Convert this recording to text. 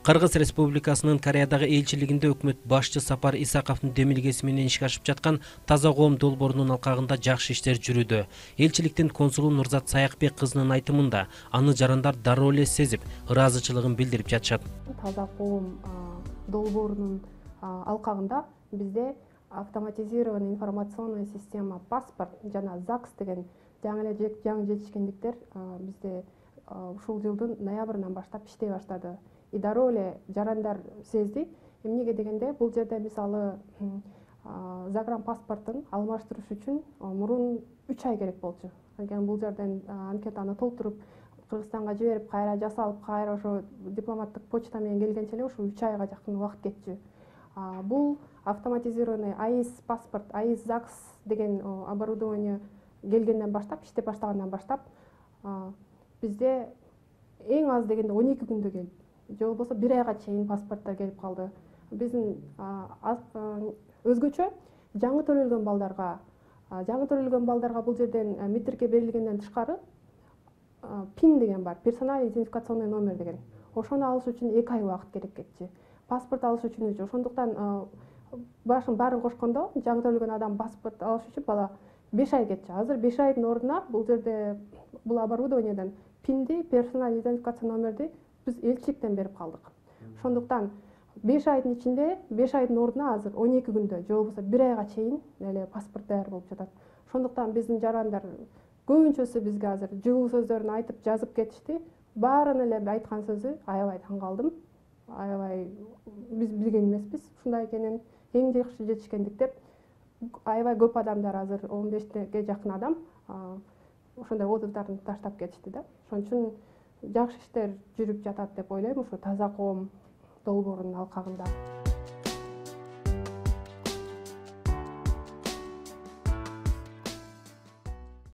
Кыргыз Республикасынын Кореядагы элчилигинде өкмөт башчы Сапар Исаковдун демилгеси менен ишке ашып жаткан таза коом долбоорунун алкагында жакшы иштер жүрүүдө. Элчиликтин консулу Нурзат Саякбек кызынын айтымында, аны жарандар дароо эле сезип, ыраазычылыгын билдирип жатышат. Таза коом долбоорунун алкагында бизде автоматизированный информационная система паспорт жана ЗАГС деген жаңы жетишкендиктер бизде ушул жылдын ноябрынан баштап иштей баштады. И дароо эле жарандар сезди. Эмнеге дегенде, бул жерде мисалы загран паспортун алмаштырыш үчүн мурун 3 ай керек болчу. Анткени бул жерден анкетаны толтуруп, Кыргызстанга жиберип, кайра жасалып, кайра ошо дипломаттык почта менен келгенче эле ушу 3 айга жакын убакыт кетчү. Бул автоматизированный АИС паспорт, АИС ЗАГС деген оборудование келгенден баштап, иштеп баштагандан баштап бизде эң аз дегенде 12 күндө келди. Же болбосо 1 айга чейин паспорттор келип калды. Биздин өзгөчө жаңы төрөлгөн балдарга бул жерден метрикке берилгенден тышкары ПИН деген бар, персональный идентификационный номер деген. Ошону алыш үчүн 2 ай убакыт керек кетчү. Паспорт алыш үчүн ошондуктан баарын кошкондо жаңы төрөлгөн адам паспорт алыш үчүн бала 5 ай кетчү. Азыр 5 айдын ордуна бул жерде бул оборудованиеден ПИНди, персональный идентификационный номерди биз элчиликтен берип калдык. Ошондуктан 5 айдын ичинде 5 айдын ордуна азыр 12 күндө же болбосо 1 айга чейин эле паспорт даяр болуп жатат. Ошондуктан биздин жарандар көбүнчөсү бизге азыр жылуу сөздөрүн айтып жазып кетишти. Баарынын эле айткан сөзү аябай таң калдым. Аябай биз билген эмеспиз ушундай экенин. Эң жакшы жетишкендик деп аябай көп адамдар азыр 15ге жакын адам ошондой отзывдарын таштап кетишти да. Ошон үчүн жакшы иштер жүрүп жатат деп ойлойм ушу таза коом долбоорунун алкагында.